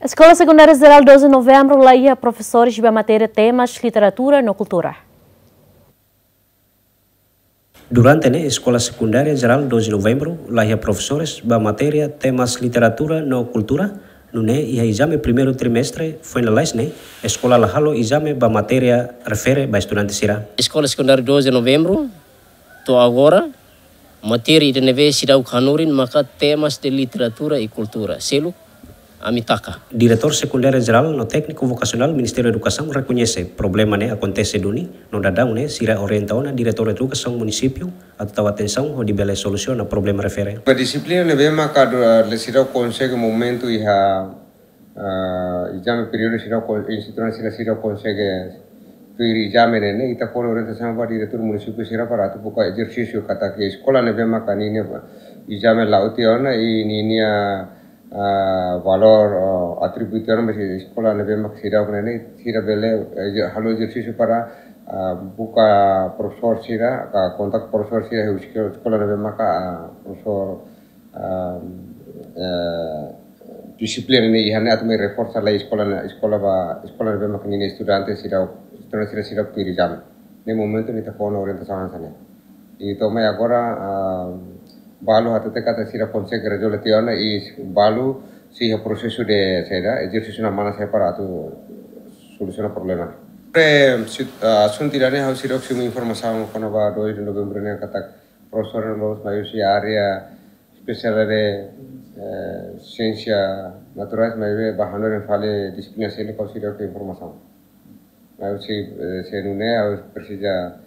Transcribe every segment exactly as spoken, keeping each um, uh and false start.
Eskola Sekundária Jerál doze Novembru la iha profesores ba matéria temas literatura no kultura. Durante ne'e, Eskola Sekundária Jerál doze Novembru la iha profesores ba matéria temas literatura no kultura, nune'e iha ezame primeiru trimestre foin lalais ne'e, eskola la halo ezame ba matéria refere ba estudante sira. Eskola Sekundária doze Novembru, to'o agora, matéria ida ne'ebé seidauk hanorin maka temas de literatura e kultura. Seluk, ami taka. Diretór Sekundária Jerál no Tékniku Vokasionál Ministériu Edukasaun rekoñese problema ne'e akontese duni, no daudaun ne'e sira orienta ona Diretór Edukasaun Munisípiu atu tau atensaun hodi bele solusiona problema refere. Ba dixiplina ne'ebé maka do, eh, seidauk konsege momentu iha, ah, ezame períodu seidauk kon-, instituisaun sira seidauk konsege tuir ezame ne'e, ne'e ita fó orientasaun ba diretór munisípiu sira para atu buka ezersísiu katak eskola ne'ebé maka ninia ezame la'o tiha ona i ninia, ah, valór, oh, atributu tiha ona ba eskola ne'ebé maka seidauk ne'e, ne'e sira bele, eh, halo ezersísiu para, ah, buka profesór sira, ka kontaktu profesór sira, eskola ne'ebé maka, ah, profesór, ah, eh, dixiplina ne'e iha ne'e atu mai reforsa lai eskola ne'e, eskola ba, eskola ne'ebé maka ninia estudante sira, estudante sira seidauk tuir ezame. Ne'e momentu ne'e ita fó ona orientasaun hanesan ne'e. I to'o mai agora, ah, balu hatete katak sira konsege rezolve tiha ona i balu sei iha prosesu de saida, ezersísiu na mana sai para atu solusiona problema. Pre, sit-, ah, asuntu ida ne'e ha'u seidauk simu informasaun kona-ba doze Novembru ne'e katak profesór loloos mai husi área espesiál de, eh, siénsia naturais, maibé ba hanorin fali dixiplina seluk ha'u seidauk informasaun. Maibé se, eh, se nune'e ha'u presiza,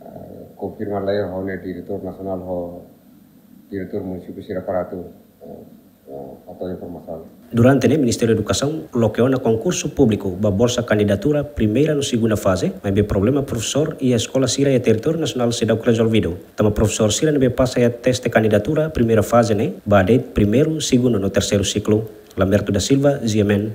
eh, konfirma lai ho nia diretór nasionál ho diretór munisípiu sira para atu, eh, eh, atu informasaun. Durante ne'e Ministériu Edukasaun loke ona konkursu públiku ba bolsa kandidatura primeira no segunda faze, maibé problema profesór iha eskola sira iha territóriu nasionál seidauk rezolvidu. Tanba profesór sira ne'ebé pasa iha teste kandidatura primeira faze ne'e, ba de'it primeiru, segundu no terseiru siklu. Lamberto da Silva, G M N.